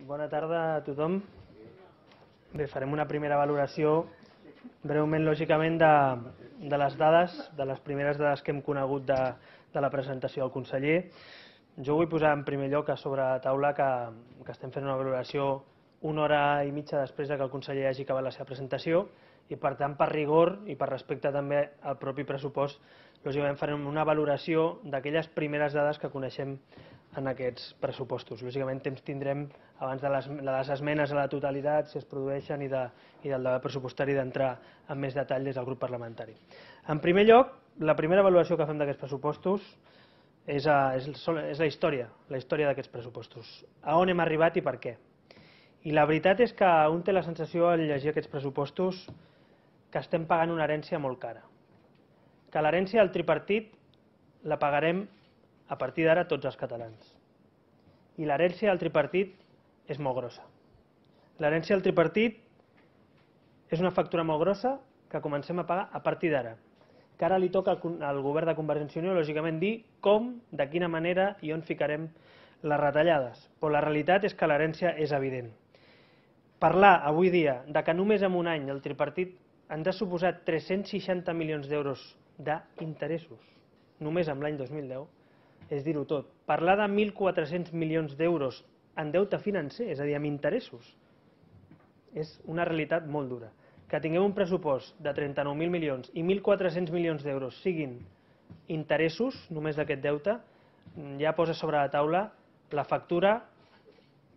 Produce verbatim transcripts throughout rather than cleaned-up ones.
Bona tarda a tothom. Bé, farem una primera valoració, breument, lògicament, de, de les dades, de les primeres dades que hem conegut de, de la presentació del conseller. Jo vull posar en primer lloc a sobre la taula que, que estem fent una valoració una hora i mitja després que el conseller hagi acabat la seva presentació i, per tant, per rigor i per respecte també al propi pressupost, lògicament farem una valoració d'aquelles primeres dades que coneixem en aquests pressupostos. Lògicament, temps tindrem abans de les, de les esmenes a la totalitat, si es produeixen, i, de, i del debat pressupostari d'entrar en més detall des del grup parlamentari. En primer lloc, la primera valoració que fem d'aquests pressupostos és, a, és, és la història, la història d'aquests pressupostos. A on hem arribat i per què? I la veritat és que un té la sensació al llegir aquests pressupostos que estem pagant una herència molt cara. Que l'herència del tripartit la pagarem a partir d'ara tots els catalans. I l'herència del tripartit és molt grossa. L'herència del tripartit és una factura molt grossa que comencem a pagar a partir d'ara. Que ara li toca al govern de Convergència i Unió, lògicament, dir com, de quina manera i on ficarem les retallades. Però la realitat és que l'herència és evident. Parlar avui dia de que només en un any el tripartit ens ha suposat tres-cents seixanta milions d'euros d'interessos, només en l'any dos mil deu, és dir-ho tot. Parlar de mil quatre-cents milions d'euros en deute financer, és a dir, amb interessos, és una realitat molt dura. Que tinguem un pressupost de trenta-nou mil milions i mil quatre-cents milions d'euros siguin interessos, només d'aquest deute, ja posa sobre la taula la factura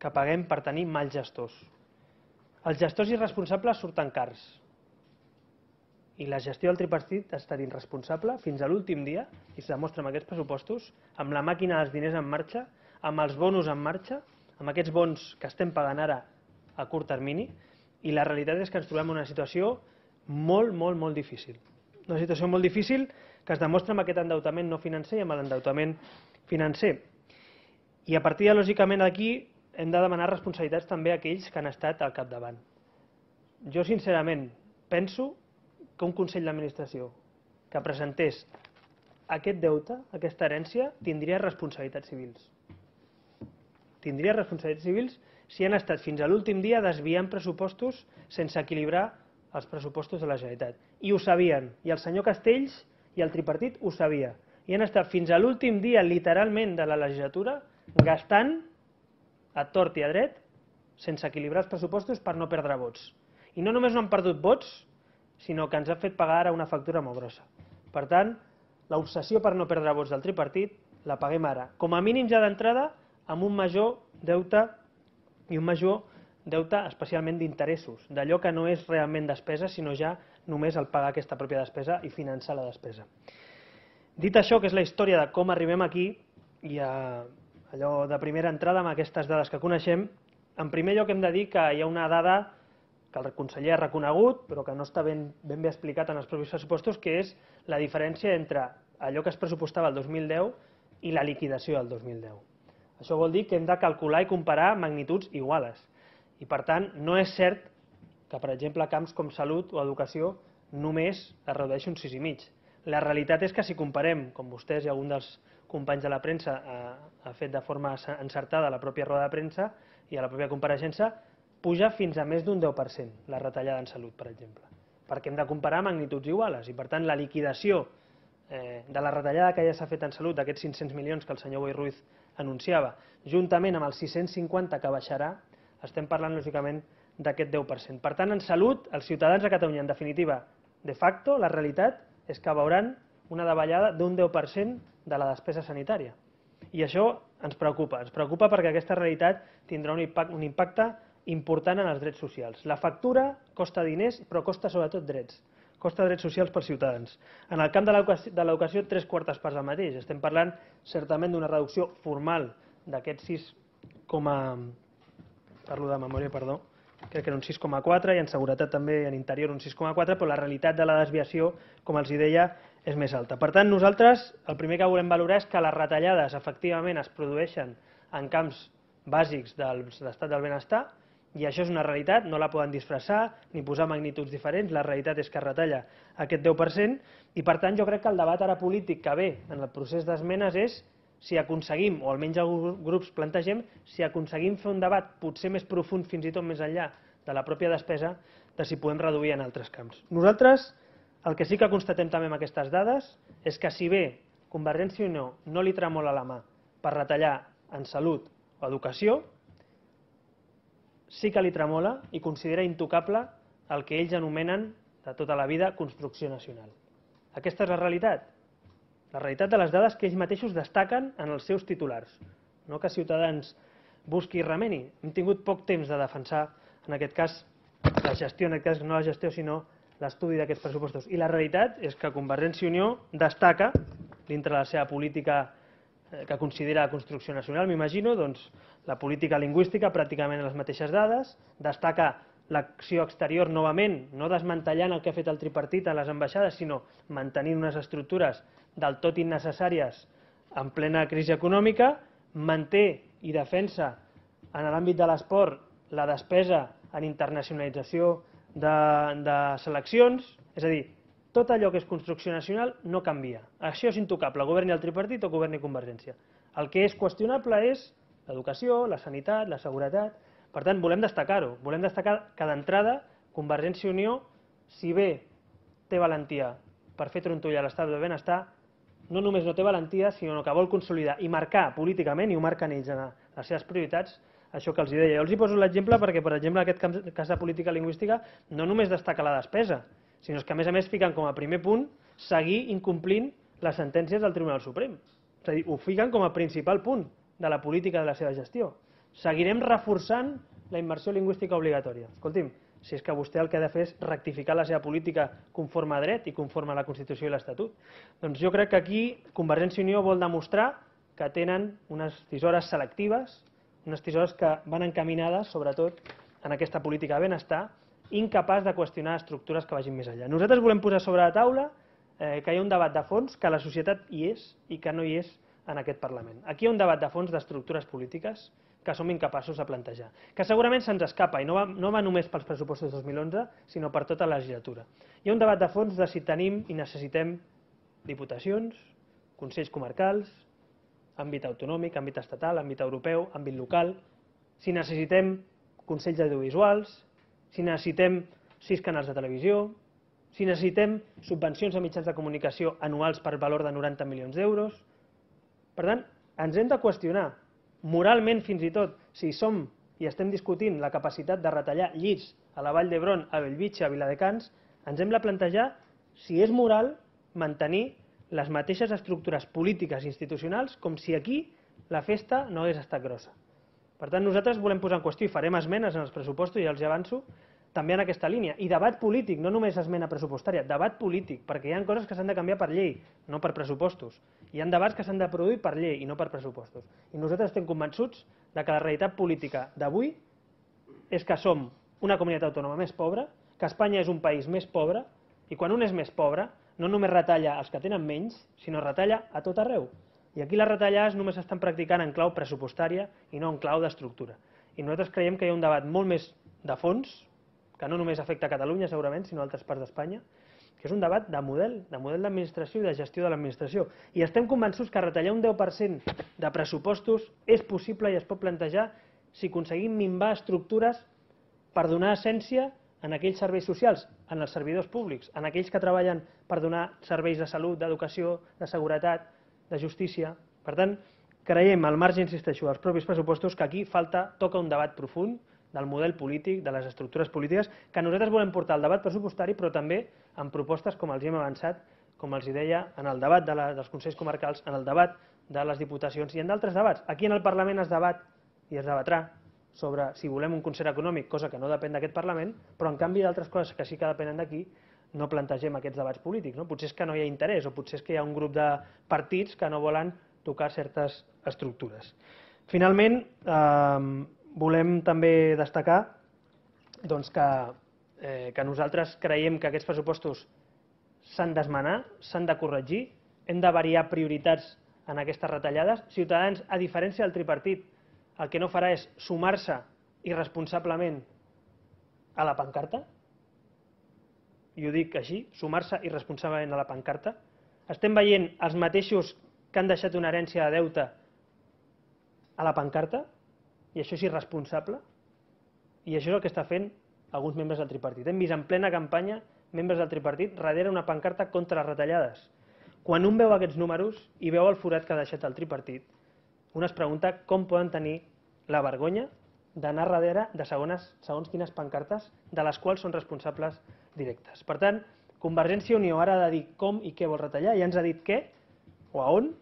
que paguem per tenir mals gestors. Els gestors irresponsables surten cars. I la gestió del tripartit ha estat irresponsable fins a l'últim dia, i es demostra amb aquests pressupostos, amb la màquina dels diners en marxa, amb els bonus en marxa, amb aquests bons que estem pagant ara a curt termini, i la realitat és que ens trobem en una situació molt, molt, molt difícil. Una situació molt difícil que es demostra amb aquest endeutament no financer i amb l'endeutament financer. I a partir de, lògicament, d'aquí hem de demanar responsabilitats també a aquells que han estat al capdavant. Jo, sincerament, penso que un Consell d'Administració que presentés aquest deute, aquesta herència, tindria responsabilitats civils. Tindria responsabilitats civils si han estat fins a l'últim dia desviant pressupostos sense equilibrar els pressupostos de la Generalitat. I ho sabien, i el senyor Castells i el tripartit ho sabia. I han estat fins a l'últim dia, literalment, de la legislatura, gastant a tort i a dret sense equilibrar els pressupostos per no perdre vots. I no només no han perdut vots, sinó que ens ha fet pagar ara una factura molt grossa. Per tant, l'obsessió per no perdre vots del tripartit la paguem ara, com a mínim ja d'entrada, amb un major deute i un major deute especialment d'interessos, d'allò que no és realment despesa, sinó ja només el pagar aquesta pròpia despesa i finançar la despesa. Dit això, que és la història de com arribem aquí, i a allò de primera entrada amb aquestes dades que coneixem, en primer lloc hem de dir que hi ha una dada que el conseller ha reconegut, però que no està ben, ben bé explicat en els propis pressupostos, que és la diferència entre allò que es pressupostava el dos mil deu i la liquidació del dos mil deu. Això vol dir que hem de calcular i comparar magnituds iguales. I, per tant, no és cert que, per exemple, camps com salut o educació només es redueixi un sis i mig. La realitat és que si comparem, com vostès i algun dels companys de la premsa ha, ha fet de forma encertada a la pròpia roda de premsa i a la pròpia compareixença, puja fins a més d'un deu per cent la retallada en salut, per exemple, perquè hem de comparar magnituds iguales i, per tant, la liquidació eh, de la retallada que ja s'ha fet en salut, d'aquests cinc-cents milions que el senyor Boi Ruiz anunciava, juntament amb els sis-cents cinquanta que baixarà, estem parlant, lògicament, d'aquest deu per cent. Per tant, en salut, els ciutadans de Catalunya, en definitiva, de facto, la realitat és que veuran una davallada d'un deu per cent de la despesa sanitària. I això ens preocupa, ens preocupa perquè aquesta realitat tindrà un impacte, un impacte important en els drets socials. La factura costa diners, però costa sobretot drets. Costa drets socials pels ciutadans. En el camp de l'educació, tres quartes parts del mateix. Estem parlant, certament, d'una reducció formal d'aquests sis coma... Parlo de memòria, perdó. Crec que era un sis coma quatre i en seguretat també en interior un sis coma quatre, però la realitat de la desviació, com els deia, és més alta. Per tant, nosaltres el primer que volem valorar és que les retallades efectivament es produeixen en camps bàsics de l'estat del benestar, i això és una realitat, no la poden disfressar ni posar magnituds diferents, la realitat és que es retalla aquest deu per cent i, per tant, jo crec que el debat ara polític que ve en el procés d'esmenes és si aconseguim, o almenys alguns grups plantegem, si aconseguim fer un debat potser més profund, fins i tot més enllà de la pròpia despesa, de si podem reduir en altres camps. Nosaltres, el que sí que constatem també amb aquestes dades és que si bé Convergència i Unió no li tremola la mà per retallar en salut o educació, sí que li tremola i considera intocable el que ells anomenen de tota la vida construcció nacional. Aquesta és la realitat. La realitat de les dades que ells mateixos destaquen en els seus titulars. No que Ciutadans busqui i remeni. Hem tingut poc temps de defensar, en aquest cas, la gestió, en aquest cas no la gestió, sinó l'estudi d'aquests pressupostos. I la realitat és que Convergència i Unió destaca, dintre de la seva política que considera construcció nacional, m'imagino, doncs la política lingüística, pràcticament les mateixes dades, destaca l'acció exterior novament, no desmantellant el que ha fet el tripartit a les ambaixades, sinó mantenint unes estructures del tot innecessàries en plena crisi econòmica, manté i defensa en l'àmbit de l'esport la despesa en internacionalització de, de seleccions, és a dir, tot allò que és construcció nacional no canvia. Això és intocable, governi el tripartit o governi Convergència. El que és qüestionable és l'educació, la sanitat, la seguretat. Per tant, volem destacar-ho. Volem destacar que d'entrada Convergència i Unió, si bé té valentia per fer trontoll a l'estat del benestar, no només no té valentia, sinó que vol consolidar i marcar políticament, i ho marquen ells en les seves prioritats, això que els deia. Jo els hi poso l'exemple perquè, per exemple, en aquest cas de política lingüística no només destaca la despesa, sinó que a més a més fiquen com a primer punt seguir incomplint les sentències del Tribunal Suprem. És a dir, ho fiquen com a principal punt de la política de la seva gestió. Seguirem reforçant la immersió lingüística obligatòria. Escolti'm, si és que vostè el que ha de fer és rectificar la seva política conforme a dret i conforme a la Constitució i l'Estatut. Doncs jo crec que aquí Convergència i Unió vol demostrar que tenen unes tisores selectives, unes tisores que van encaminades, sobretot, en aquesta política de benestar, incapaç de qüestionar estructures que vagin més enllà. Nosaltres volem posar sobre la taula eh, que hi ha un debat de fons, que la societat hi és i que no hi és en aquest Parlament. Aquí hi ha un debat de fons d'estructures polítiques que som incapaços de plantejar, que segurament se'ns escapa i no va, no va només pels pressupostos de dos mil onze, sinó per tota la legislatura. Hi ha un debat de fons de si tenim i necessitem diputacions, consells comarcals, àmbit autonòmic, àmbit estatal, àmbit europeu, àmbit local, si necessitem consells audiovisuals, si necessitem sis canals de televisió, si necessitem subvencions a mitjans de comunicació anuals per valor de noranta milions d'euros. Per tant, ens hem de qüestionar, moralment fins i tot, si som i estem discutint la capacitat de retallar llits a la Vall d'Hebron, a Bellvitge, a Viladecans, ens hem de plantejar si és moral mantenir les mateixes estructures polítiques i institucionals com si aquí la festa no hagués estat grossa. Per tant, nosaltres volem posar en qüestió i farem esmenes en els pressupostos, ja els avanço, també en aquesta línia. I debat polític, no només esmena pressupostària, debat polític, perquè hi ha coses que s'han de canviar per llei, no per pressupostos. Hi ha debats que s'han de produir per llei i no per pressupostos. I nosaltres estem convençuts de que la realitat política d'avui és que som una comunitat autònoma més pobra, que Espanya és un país més pobre, i quan un és més pobre, no només retalla els que tenen menys, sinó retalla a tot arreu. I aquí les retallades només s'estan practicant en clau pressupostària i no en clau d'estructura. I nosaltres creiem que hi ha un debat molt més de fons, que no només afecta a Catalunya segurament, sinó a altres parts d'Espanya, que és un debat de model, de model d'administració i de gestió de l'administració. I estem convençuts que retallar un deu per cent de pressupostos és possible i es pot plantejar si aconseguim minvar estructures per donar essència en aquells serveis socials, en els servidors públics, en aquells que treballen per donar serveis de salut, d'educació, de seguretat, de justícia. Per tant, creiem, al marge, insisteixo, dels propis pressupostos, que aquí falta, toca un debat profund del model polític, de les estructures polítiques, que nosaltres volem portar al debat pressupostari, però també amb propostes com els hem avançat, com els deia, en el debat de la, dels Consells Comarcals, en el debat de les Diputacions i en d'altres debats. Aquí en el Parlament es debat i es debatrà sobre si volem un concert econòmic, cosa que no depèn d'aquest Parlament, però en canvi d'altres coses que sí que depenen d'aquí, no plantegem aquests debats polítics. No? Potser és que no hi ha interès o potser és que hi ha un grup de partits que no volen tocar certes estructures. Finalment, eh, volem també destacar doncs, que, eh, que nosaltres creiem que aquests pressupostos s'han d'esmenar, s'han de corregir, hem de variar prioritats en aquestes retallades. Ciutadans, a diferència del tripartit, el que no farà és sumar-se irresponsablement a la pancarta, i ho dic així, sumar-se irresponsablement a la pancarta. Estem veient els mateixos que han deixat una herència de deute a la pancarta, i això és irresponsable, i això és el que està fent alguns membres del tripartit. Hem vist en plena campanya membres del tripartit darrere una pancarta contra les retallades. Quan un veu aquests números i veu el forat que ha deixat el tripartit, un es pregunta com poden tenir la vergonya d'anar darrere de segons, segons quines pancartes de les quals són responsables directes. Per tant, Convergència i Unió ara ha de dir com i què vol retallar, ja ens ha dit què o a on,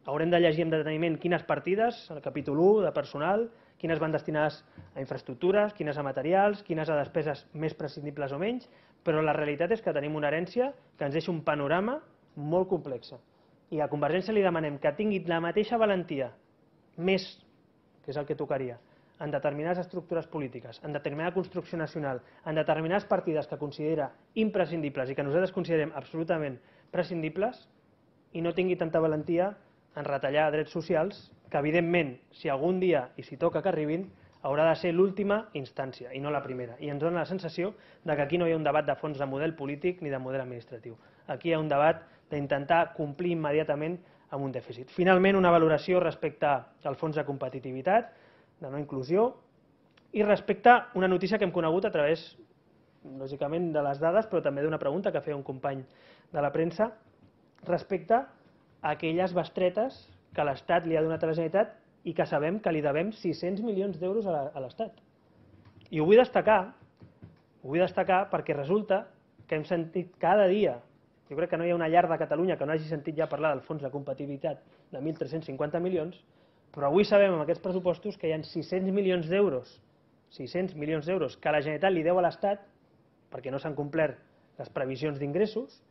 haurem de llegir amb deteniment quines partides, el capítol u de personal, quines van destinades a infraestructures, quines a materials, quines a despeses més prescindibles o menys, però la realitat és que tenim una herència que ens deixa un panorama molt complex. I a Convergència li demanem que tingui la mateixa valentia, més, que és el que tocaria, en determinades estructures polítiques, en determinada construcció nacional, en determinades partides que considera imprescindibles i que nosaltres considerem absolutament prescindibles, i no tingui tanta valentia en retallar drets socials, que evidentment, si algun dia i si toca que arribin, haurà de ser l'última instància i no la primera. I ens dona la sensació de que aquí no hi ha un debat de fons de model polític ni de model administratiu. Aquí hi ha un debat d'intentar complir immediatament amb un dèficit. Finalment, una valoració respecte al fons de competitivitat, de no inclusió, i respecte a una notícia que hem conegut a través, lògicament, de les dades, però també d'una pregunta que feia un company de la premsa, respecte a aquelles bestretes que l'Estat li ha donat a la Generalitat i que sabem que li devem sis-cents milions d'euros a l'Estat. I ho vull destacar, ho vull destacar perquè resulta que hem sentit cada dia, jo crec que no hi ha una llar de Catalunya que no hagi sentit ja parlar del fons de competitivitat de mil tres-cents cinquanta milions, però avui sabem amb aquests pressupostos que hi ha sis-cents milions d'euros, sis-cents milions d'euros que la Generalitat li deu a l'Estat perquè no s'han complert les previsions d'ingressos,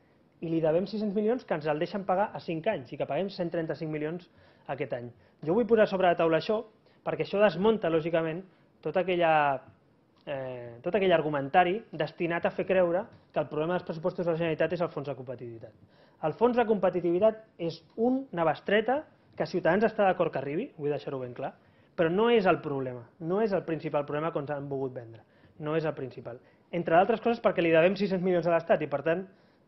i li devem sis-cents milions que ens el deixen pagar a cinc anys i que paguem cent trenta-cinc milions aquest any. Jo vull posar sobre la taula això perquè això desmunta, lògicament, tot, aquella, eh, tot aquell argumentari destinat a fer creure que el problema dels pressupostos de la Generalitat és el fons de competitivitat. El fons de competitivitat és una bestreta que Ciutadans està d'acord que arribi, vull deixar-ho ben clar, però no és el problema, no és el principal problema que ens han volgut vendre, no és el principal. Entre d'altres coses perquè li devem sis-cents milions a l'Estat i, per tant,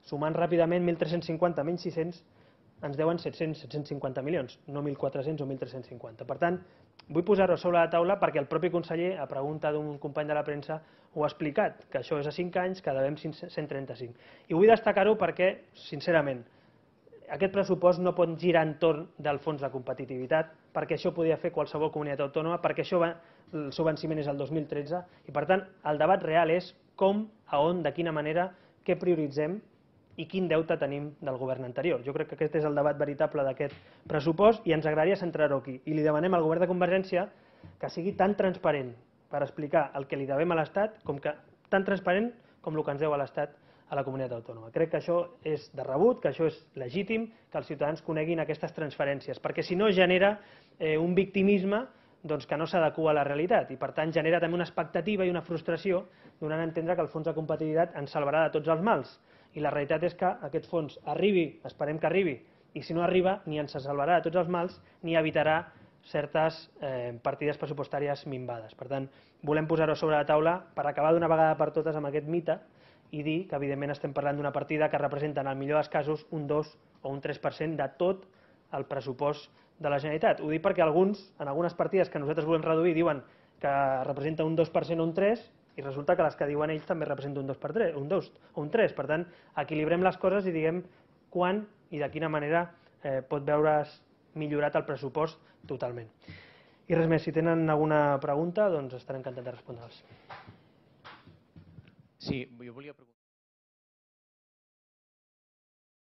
sumant ràpidament mil tres-cents cinquanta menys sis-cents, ens deuen set-cents, set-cents cinquanta milions, no mil quatre-cents o mil tres-cents cinquanta. Per tant, vull posar-ho sobre la taula perquè el propi conseller, a pregunta d'un company de la premsa, ho ha explicat, que això és a cinc anys, que devem cent trenta-cinc. I vull destacar-ho perquè, sincerament, aquest pressupost no pot girar entorn del fons de competitivitat, perquè això podia fer qualsevol comunitat autònoma, perquè això va, el seu venciment és el dos mil tretze, i per tant el debat real és com, a on, de quina manera, què prioritzem i quin deute tenim del govern anterior. Jo crec que aquest és el debat veritable d'aquest pressupost i ens agradaria centrar-ho aquí. I li demanem al govern de Convergència que sigui tan transparent per explicar el que li devem a l'Estat, com que tan transparent com el que ens deu a l'Estat a la comunitat autònoma. Crec que això és de rebut, que això és legítim, que els ciutadans coneguin aquestes transferències, perquè si no genera eh, un victimisme doncs, que no s'adequa a la realitat i per tant genera també una expectativa i una frustració donant a entendre que el fons de competitivitat ens salvarà de tots els mals. I la realitat és que aquest fons arribi, esperem que arribi, i si no arriba ni ens salvarà de tots els mals ni evitarà certes eh, partides pressupostàries minvades. Per tant, volem posar-ho sobre la taula per acabar d'una vegada per totes amb aquest mite i dir que evidentment estem parlant d'una partida que representa en el millor dels casos un dos o un tres per cent de tot el pressupost de la Generalitat. Ho dic perquè alguns, en algunes partides que nosaltres volem reduir, diuen que representa un dos per cent o un tres per cent i resulta que les que diuen ells també representen un dos per cent, un dos o un tres per cent. Per tant, equilibrem les coses i diguem quan i de quina manera eh, pot veure's millorat el pressupost totalment. I res més, si tenen alguna pregunta, doncs estaré encantat de respondre'ls. Sí, jo volia preguntar...